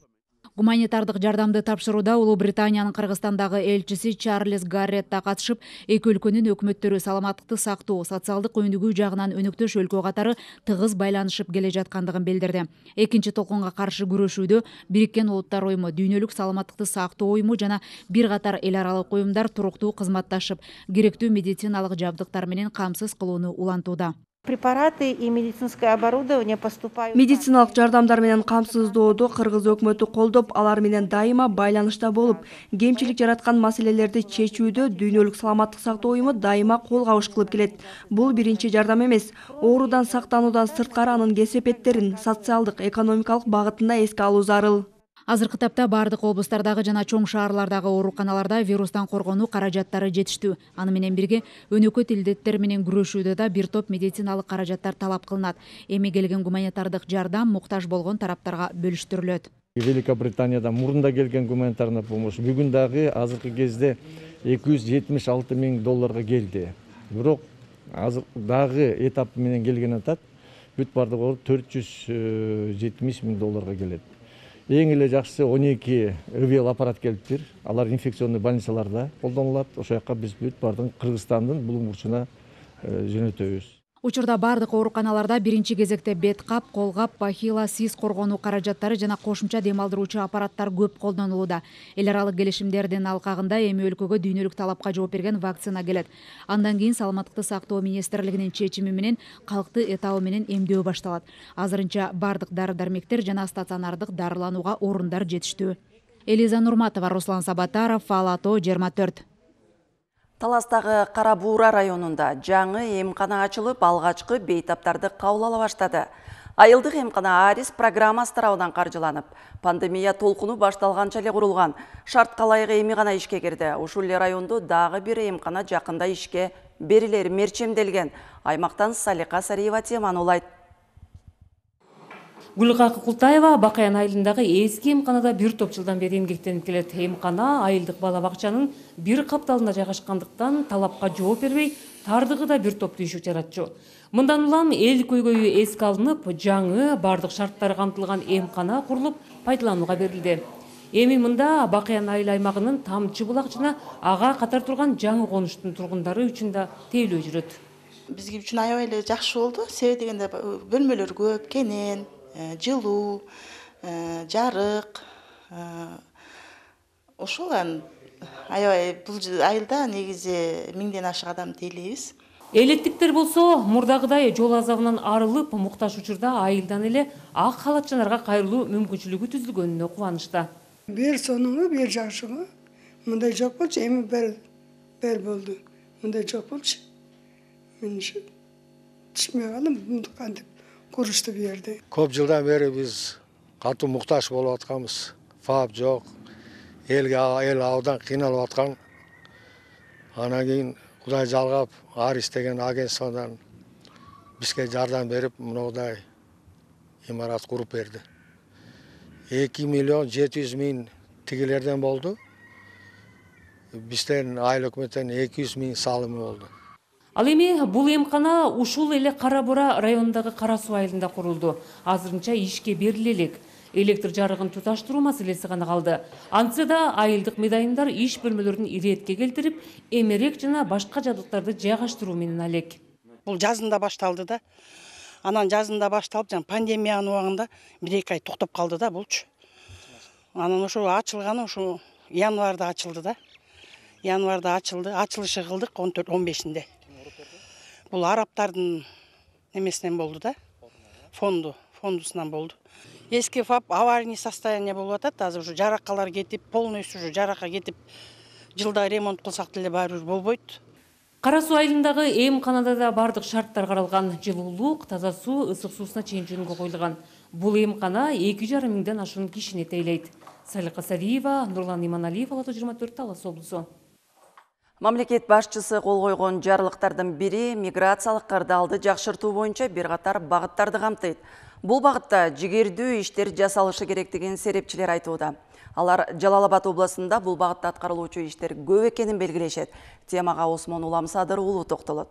Гуманитардык жардамды тапшырууда Улуу Британиянын Кыргызстандагы элчиси Чарльз Гарретт да катышып, эки өлкөнүн өкмөттөрү саламаттыкты сактоо, социалдык өнүгүү жагынан өнөктөш өлкө катары тыгыз байланышып келе жаткандыгын билдирди. Экинчи толкунга каршы күрөшүүдө Бириккен Улуттар уюму, дүйнөлүк саламаттыкты сактоо уюму жана бир катар эл аралык уюмдар туруктуу кызматташып, керектүү медициналык жабдыктар менен камсыз кылууну улантууда. Препараты и медицинское оборудование поступают. Медициналык жардамдар менен камсыздоодо Кыргыз өкмөтү колдоп, алар менен дайыма байланышта болуп, кемчилик жараткан маселелерди чечүүдө Дүйнөлүк саламаттык сактоо уюму дайыма кол кабыш кылып келет. Бул биринчи жардам эмес. Оорудан сактануудан сырткары анын кесепеттерин, социалдык, экономикалык багытында эске алуу зарыл. Азыркы тапта бардык облустардагы жана чоң шаарлардагы ооруканаларда вирустан коргонуу каражаттары жетиштүү. Аны менен бирге өнөкөт илдеттер менен күрөшүүдө да бир топ медициналык каражаттар талап кылынат. Эми келген гуманитардык жардам муктаж болгон тараптарга бөлүштүрүлөт. Великобританияда мурунда келген гуманитарный помощь бүгүн дагы азыркы кезде эки жүз жетимиш алты миң долларга келди. Бирок азыр дагы этап менен келген атат. Бүт бардыгы төрт жүз жетимиш миң долларга келет. Эң эле жакшысы он эки өвел аппарат келиптир. Алар инфекционный больницаларда колдонулат. Ошол жака биз бүт бардыгын Кыргызстандын булуң бурчуна жөнөтөбүз. Учурда бардык ооруканаларда биринчи кезекте бет кап, кол кап, бахила, сиз коргонуу каражаттары жана кошумча дем алдыруучу аппараттар көп колдонулууда. Эл аралык келишимдердин алкагында эми өлкөгө дүйнөлүк талапка жооп берген вакцина келет. Андан кийин саламаттыкты сактоо министрлигинин чечими менен калкты этабы менен эмдөө башталат. Азырынча бардык дары-дармектер жана стационардык дарыланууга орундар жетиштүү. Элиза Нурматова, Руслан Сабатаров, Фалато, жыйырма төрт. Таластагы Кара Буура районунда жаңы эмкана ачылып, алгачкы бейтаптарды кабыл ала баштады. Айылдык эмкана Арис программасы тарабынан каржыланып, пандемия толкуну башталганча эле курулган. Шартка ылайык эми гана ишке кирди. Ушул эле райондо дагы бир эмкана жакында ишке берилери мерчемделген. Аймактан Салика Сариева теманы улайт. Гүлкакы Култаева Бакаян айылындагы эски эмканада бир топ жылдан бери эмгектенип келет. Эмкана айылдык бала бакчанын бир капталында жайгашкандыктан талапка жооп бербей, тардыгы да бир топ тийишүү жаратчу. Мындан улам эл көйгөйү эске алынып, жаңы бардык шарттары камтылган эмкана курулуп, пайдаланууга берилди. Эми мында Бакаян айыл аймагынын Тамчы булак жана ага катар турган жаңы конуштун тургундары үчүн да тейлөө жүрөт. Бизге үчүн аябай эле жакшы болду. Себеби дегенде бөлмөлөр көп, кенен, жылуу, жарык. Ошол аябай бул айылда негизи миңден ашык адам тейлейбиз. Элеттиктер болсо мурдагыдай жол азабынан арылып, муктаж учурда айылдан эле ак халатчанарга кайрылуу мүмкүнчүлүгү түзүлгөнүнө кубанычта. Бир сонуңу, бир жакшыгы. Мындай жок болчу, эми бер бер болду. Мындай жок болчу. Мен түшмөй калдым, кантип курушту бу жерде. Көп жылдан бери биз катуу муктаж болуп атканбыз. Фап жок. Элге эл абдан кыйналып аткан. Анан кийин Кудай жалгап, Арис деген агентстводан бизге жардам берип, мындай имарат куруп берди. эки миллион жети жүз миң тигилерден болду. Бизден айыл өкмөттөн эки жүз миң салымы болду. Ал эми бул эмкана ушул эле Кара Буура районундагы Кара Суу айылында курулду. Азырынча ишке бериле элек. Электр жарыгын туташтыруу маселеси гана калды. Антса да айылдык медайымдар иш бөлмөлөрүн иретке келтирип, эмерек жана башка жабдыктарды жайгаштыруу менен алек. Бул жазында башталды да. Анан жазында башталып, жана пандемиянын убагында бир эки ай токтоп калды да булчу. Анан ошо ачылганы ошо январда ачылды да. Январда ачылды. Ачылышы кылдык он төрт он бешинде. Бул араптардын немесинен болду да. Фонду, фондусунан болду. Эски фап аварийный состояние болуп атат. Азыр ушу жаракалар кетип, полностью ушу жаракка кетип, жылда ремонт кылсак деле баары бир болбойт. Кара Суу айылындагы эмканада да бардык шарттар каралган. Жылуулук, таза суу, ысык суусуна чейин жөнгө коюлган. Бул эмкана эки жарым миңден ашуун кишини тейлейт. Салика Сариева, Нурлан Иманалиев, Алато жыйырма төрт, Талас облусу. Мамлекет башчысы кол койгон жарлыктардын бири миграциялык кырдаалды жакшыртуу боюнча бир катар багыттарды камтыйт. Бул багытта жигердүү иштер жасалышы керектигин серепчилер айтууда. Алар Жалал-Абад областында бул багытта аткарылуучу иштер көп экенин белгилешет. Темага Осмон Улам Садыр уулу токтолот.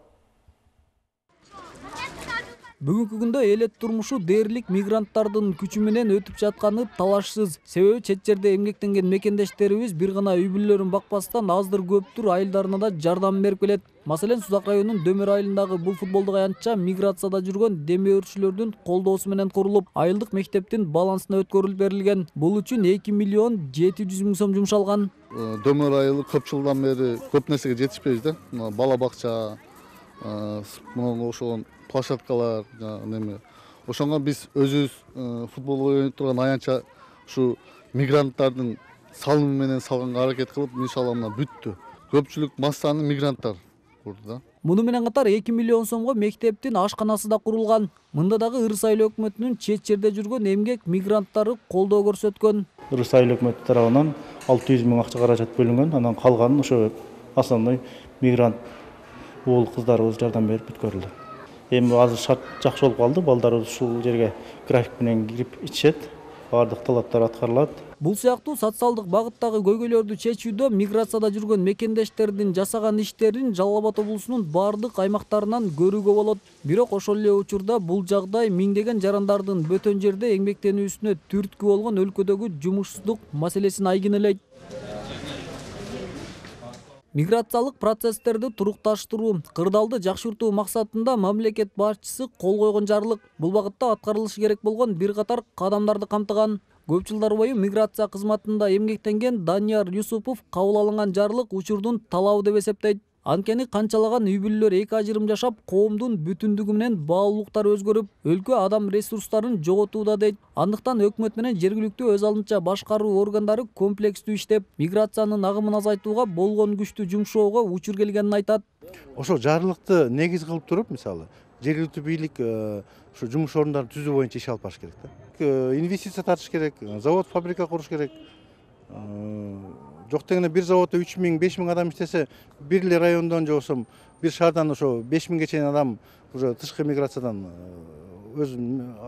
Бүгүнкү күндө элет турмушу дээрлик мигранттардын күчү менен өтүп жатканы талашсыз. Себеби чет жерде эмгектенген мекендештерибиз бир гана үй бүлөлөрүн бакпастан аздыр көптүр айылдарына да жардам берип келет. Маселен, Сузак районунун Дөмөр айылындагы бул футболдук аянтча миграцияда жүргөн демөөрчүлөрдүн колдоосу менен курулуп, айылдык мектептин балансына өткөрүлүп берилген. Бул үчүн эки миллион жети жүз миң сом жумшалган. Дөмөр айылы көп жылдан бери көп нерсеге жетишпейбиз да. Бала бакча, мына ошол площадкалар неме ошондо биз өзүбүз футбол ойноп турган аянтча ушу мигранттардын салымы менен салганга аракет кылып, иншалла мына бүттү. Көпчүлүк массаны мигранттар курду да. Муну менен катар эки миллион сомго мектептин ашканасы да курулган. Мында дагы Ырыс айыл өкмөтүнүн чет жерде жүргөн эмгек мигранттары колдоо көрсөткөн. Ырыс айыл өкмөтү тарабынан алты жүз миң акча каражат бөлүнгөн. Анан калганын ошо основной мигрант уул кыздарыбыз жардам берип бүткөрүлдү. Эми азыр шарт жакшы болуп калды. Балдарыбыз ушул жерге график менен кирип ичишет. Бардык талаптар аткарылат. Бул сыяктуу социалдык багыттагы көйгөйлөрдү чечүүдө миграцияда жүргөн мекендештердин жасаган иштерин Жалал Абад облусунун бардык аймактарынан көрүүгө болот. Бирок ошол эле учурда бул жагдай миңдеген жарандардын бөтөн жерде эмгектенүүсүнө түрткү болгон өлкөдөгү жумушсуздук маселесин айгинелейт. Миграциялык процесстерди турукташтыруу, кырдаалды жакшыртуу максатында мамлекет башчысы кол койгон жарлык. Бул багытта аткарылышы керек болгон бир катар кадамдарды камтыган. Көп жылдар бою миграция кызматында эмгектенген Данияр Юсупов кабыл алынган жарлык учурдун талабы деп эсептейт. Анткени канчалаган үй бүлөлөр эки ажырым жашап, коомдун бүтүндүгү менен баалуулуктар өзгөрүп, өлкө адам ресурстарын жоготууда дейт. Андыктан өкмөт менен жергиликтүү өз алдынча башкаруу органдары комплекстүү иштеп, миграциянын агымын азайтууга болгон күчтү жумшоого учур келгенин айтат. Ошо жарлыкты негиз кылып туруп, мисалы, жергиликтүү бийлик ошо жумуш орундарын түзүү боюнча иш алып барыш керек да. Инвестиция тартыш керек, завод, фабрика куруш керек. Жок дегенде бир заводдо үч миң, беш миң адам иштесе, бир эле райондон же болсо бир шаардан ошо беш миңге чейин адам уже тышкы миграциядан өз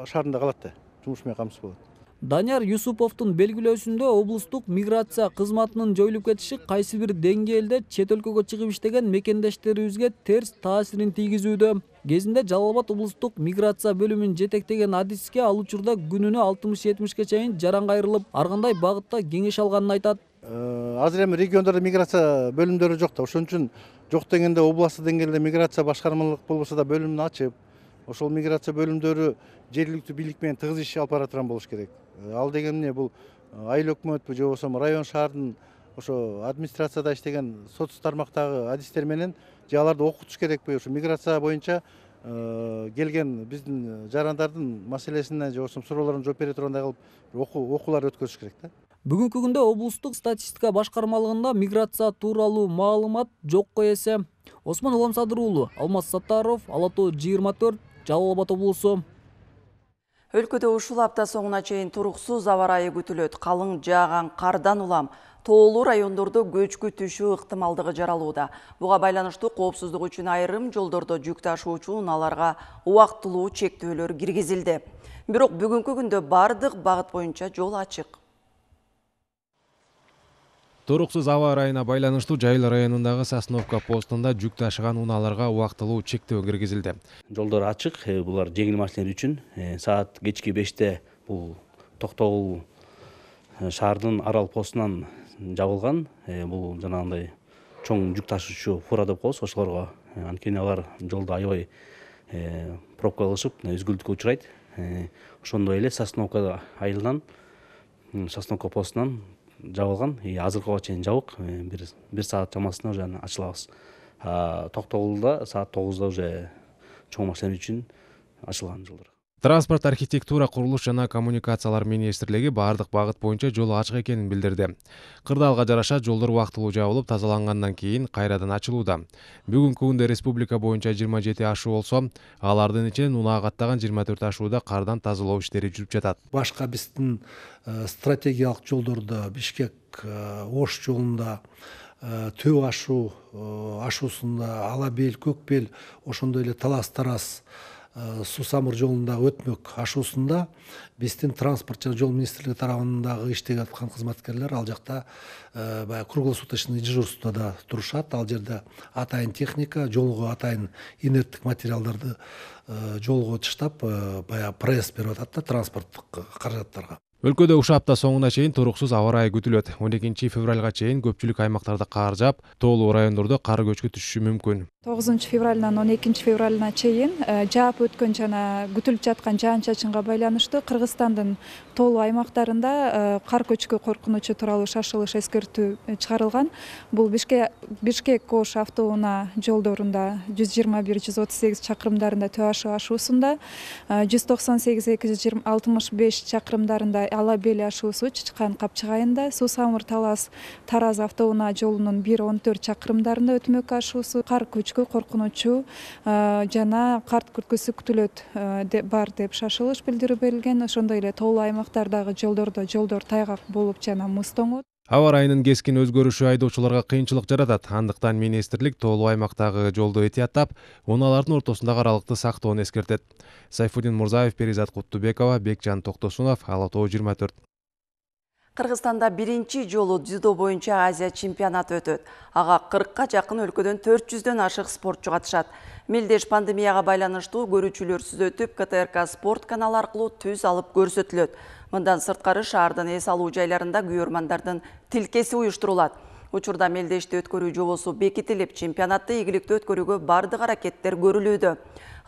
шаарында калат да, жумуш менен камсыз болот. Данияр Юсуповдун белгилөөсүндө облустук миграция кызматынын жоюлуп кетиши кайсы бир деңгээлде чет өлкөгө чыгып иштеген мекендештерибизге терс таасирин тийгизүүдө. Кезинде Жалал Абад облустук миграция бөлүмүн жетектеген адиске ал учурда күнүнө алтымыш жетимишке чейин жаран кайрылып, ар кандай багытта кеңеш алганын айтат. Азыр эми региондордо миграция бөлүмдөрү жок да, ошон үчүн жок дегенде областтык деңгээлде миграция башкармалык болбосо да бөлүмүн ачып, ошол миграция бөлүмдөрү жергиликтүү бийлик менен тыгыз иш алып бара турган болуш керек. Ал деген эмне, бул айыл өкмөтпү же болбосо район шаардын ошо администрацияда иштеген соц тармактагы адистер менен же аларды окутуш керекпи, ошо миграция боюнча келген биздин жарандардын маселесине же болбосо суроолоруна жооп бере тургандай кылып окуулар өткөзүш керек да. Бүгүнкү күндө облустук статистика башкармалыгында миграция тууралуу маалымат жокко эсе. Осмон Уламсадыр уулу, Алмаз Саттаров, Ала Тоо жыйырма төрт, Жалал Абад облусу. Өлкөдө ушул апта соңуна чейин туруксуз аба ырайы күтүлөт. Калың жааган кардан улам тоолуу райондордо көчкү түшүү ыктымалдыгы жаралууда. Буга байланыштуу коопсуздук үчүн айрым жолдордо жүк ташуучу унааларга убактылуу чектөөлөр киргизилди. Бирок бүгүнкү күндө бардык багыт боюнча жол ачык. Туруксуз аба ырайына байланыштуу Жайыл районундагы Сосновка постунда жүк ташыган унааларга убактылуу чектөө киргизилди. Жолдор ачык, булар жеңил машиналар үчүн. Саат кечки беште бул Токтогул шаардын Арал постунан жабылган. Бул жанагындай чоң жүк ташуучу фура деп коебуз, ошолорго. Анткени алар жолдо аябай пробка кылышып, үзгүлтүккө учурайт. Ошондой эле Сосновка айылынан, Сосновка постунан жабылган. Азыркыга чейин жабык, бир саат чамасында уже ачылабыз. Токтогулда саат тогузда уже чоң машиналар үчүн ачылган жолдор. Транспорт, архитектура, курулуш жана коммуникациялар министрлиги бардык багыт боюнча жол ачык экенин билдирди. Кырдаалга жараша жолдор убактылуу жабылып, тазалангандан кийин кайрадан ачылууда. Бүгүнкү күндө республика боюнча жыйырма жети ашуу болсо, алардын ичинен унаа каттаган жыйырма төрт ашууда кардан тазалоо иштери жүрүп жатат. Башка биздин стратегиялык жолдордо Бишкек Ош жолунда, Төө ашуу ашуусунда, Ала бел, Көк бел, ошондой эле Талас Тарас Сусамыр жолунда өтмөк ашуусунда биздин транспорт жана жол министрлиги тарабындагы иштеп аткан кызматкерлер ал жакта баягы круглосуточный дежурстводо да турушат. Ал жерде атайын техника, жолго атайын инерттик материалдарды жолго таштап, баягы пресс берип атат да транспорттук каражаттарга. Өлкөдө ушул апта соңуна чейин туруксуз аба ырайы күтүлөт. он экинчи февралга чейин көпчүлүк аймактарда кар жаап, тоолуу райондордо кар көчкү түшүшү мүмкүн. тогузунчу февралынан он экинчи февралына чейин жаап өткөн жана күтүлүп жаткан жаан чачынга байланыштуу Кыргызстандын тоолуу аймактарында кар көчкү коркунучу тууралуу шашылыш эскертүү чыгарылган. Бул Бишкек Ош автоунаа жолдорунда жүз жыйырма бир жүз отуз сегиз чакырымдарында Төө ашы ашуусунда, жүз токсон сегиз эки жүз алтымыш беш чакырымдарында Ала Бел ашуусу Чычкан Капчыгайында, Суу Самыр Талас Тараз автоунаа жолунун бир он төрт чакырымдарында Өтмөк ашуусу кар көчкү коркунучу жана карт күткүсү күтүлөт бар деп шашылыш билдирүү берилген. Ошондой эле тоолуу аймактардагы жолдордо жолдор тайгак болуп жана муз тоңот. Аба ырайынын кескин өзгөрүшү айдоочуларга кыйынчылык жаратат. Андыктан министрлик тоолуу аймактагы жолду этияттап, унаалардын ортосундагы аралыкты сактоону эскертет. Сайфуддин Мурзаев, Перизат Куттубекова, Бекжан Токтосунов, Ала Тоо жыйырма төрт. Кыргызстанда биринчи жолу дзюдо боюнча Азия чемпионаты өтөт. Ага кыркка жакын өлкөдөн төрт жүздөн ашык спортчу катышат. Мелдеш пандемияга байланыштуу көрүүчүлөрсүз өтүп, К Т Р К спорт каналы аркылуу түз алып көрсөтүлөт. Мындан сырткары шаардын эс алуу жайларында күйөрмандардын тилкеси уюштурулат. Учурда мелдешти өткөрүү жобосу бекитилип, чемпионатты ийгиликтүү өткөрүүгө бардык аракеттер көрүлүүдө.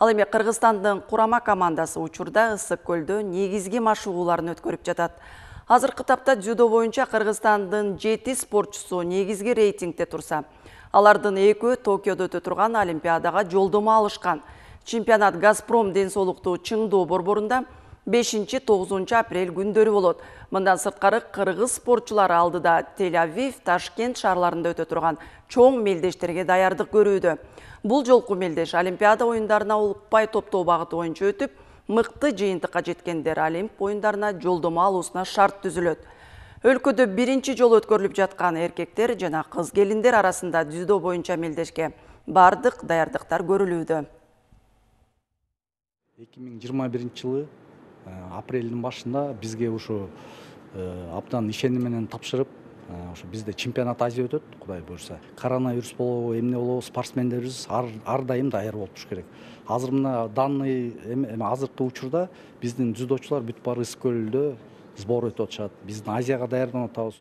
Ал эми Кыргызстандын курама командасы учурда Ысык көлдө негизги машыгууларын өткөрүп жатат. Азыркы тапта дзюдо боюнча Кыргызстандын жети спортчусу негизги рейтингде турса, алардын экөө Токиодо өтө турган Олимпиадага жолдомо алышкан. Чемпионат Газпром ден соолуктуу Чыңдоо борборунда бешинчи тогузунчу апрель күндөрү болот. Мындан сырткары кыргыз спортчулары алдыда Тель-Авив, Ташкент шаарларында өтө турган чоң мелдештерге даярдык көрүүдө. Бул жолку мелдеш Олимпиада оюндарына упай топтоо багыты боюнча өтүп, мыкты жыйынтыкка жеткендер Олимп оюндарына жолдомо алуусуна шарт түзүлөт. Өлкөдө биринчи жолу өткөрүлүп жаткан эркектер жана кыз келиндер арасында дзюдо боюнча мелдешке бардык даярдыктар көрүлүүдө. эки миң жыйырма биринчи жылы апрелдин башында бизге ушу абдан ишеним менен тапшырып, ошо бизде чемпионат Азия өтөт, Кудай буйрса. Коронавирус болобу, эмне болобу, спортсмендерибиз ар дайым даяр болуп туруш керек. Азыр мына данный эми азыркы учурда биздин дзюдочулар бүт баары Ысык көлдө сбор өтүп атышат. Биздин Азияга даярданып атабыз.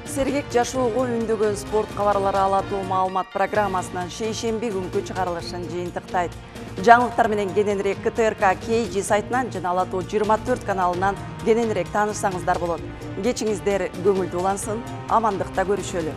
Сергек жашоого үндөгөн спорт кабарлары Ала Тоо маалымат программасынан шейшемби күнкү чыгарылышын жыйынтыктайт. Жаңылыктар менен кененирээк К Т Р К Кей Жи сайтынан жана Ала Тоо жыйырма төрт каналынан кененирээк таанышсаңыздар болот. Кечиңиздер көңүлдүү улансын, амандыкта көрүшөлү.